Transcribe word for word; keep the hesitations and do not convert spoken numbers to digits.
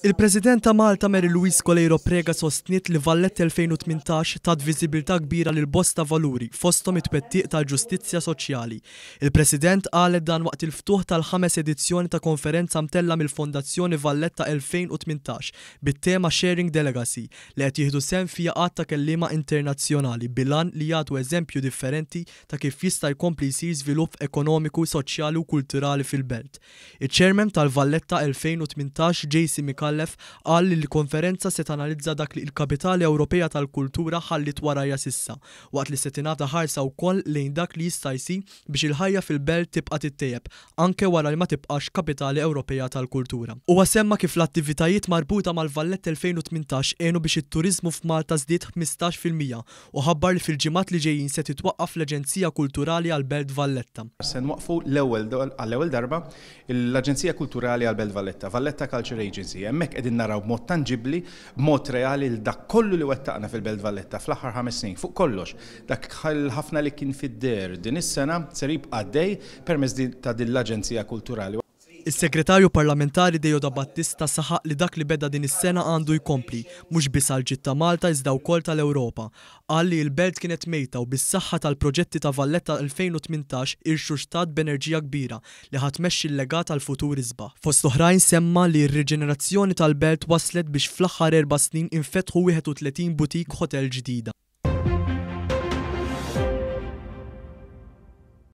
Il-President ta' Malta Mary Louise Coleiro Preca sostniet li Valletta elfejn u tmintax tat viżibilità kbira lil bosta valuri, fosthom it-twettiq tal-ġustizzja soċjali. Il-President qalet dan waqt il-ftuħ tal-ħames edizzjoni ta' konferenza mtella mill-Fondazzjoni Valletta elfejn u tmintax bit-tema Sharing the Legacy, li qed jieħdu sehem fiha għadd ta' kelliema internazzjonali bil-għan li jagħtu eżempju differenti ta' kif jista' jkompli jsir żvilupp ekonomiku, soċjali u kulturali fil-belt. Il-Chairman tal-Valletta elfejn u tmintax J C Micallef qal li l-konferenza se tanalizza dak li l-Kapitali Ewropea tal-Kultura ħallit warajha s'issa, waqt li se tingħata ħarsa wkoll lejn dak li jista' jsir biex il-ħajja fil-belt tibqa' tittejjeb anke wara li ma tibqax Kapitali Ewropea tal-Kultura. Huwa semma kif l-attivitajiet marbuta mal-Valletta elfejn u tmintax għenu biex it-turizmu f'Malta żdied ħmistax fil-mija u ħabbar li fil-ġimgħat li ġejjin se titwaqqaf l-Aġenzija Kulturali għal-Belt Valletta. Se nwaqqfu l-ewwel għall-ewwel darba l-Aġenzija Kulturali għal-Belt Valletta, Valletta Culture Agency. Hemmhekk qegħdin naraw b'mod tanġibbli, b'mod reali l dak kollu li wettaqna fil-Belt Valletta fl-aħħar ħames snin. Fuq kollox, dak ħafna li kien fid-der din is-sena ser jibqa' għaddej permezz ta' din l-Aġenzija Kulturali. Is-Segretarju Parlamentari Deo Battista saħaq li dak li beda din is-sena għandu jkompli, mhux biss għal ġid ta' Malta iżda wkoll tal-Ewropa. Qal li l-belt kienet mejta u bis-saħħa tal-proġetti ta' Valletta elfejn u tmintax irxuxtat b'enerġija kbira li ħa tmexxi l-legat għal futur isbaħ. Fost oħrajn semma li r-riġenerazzjoni tal-belt waslet biex fl-aħħar erba' snin infetħu wieħed u tletin boutique hotel ġdida.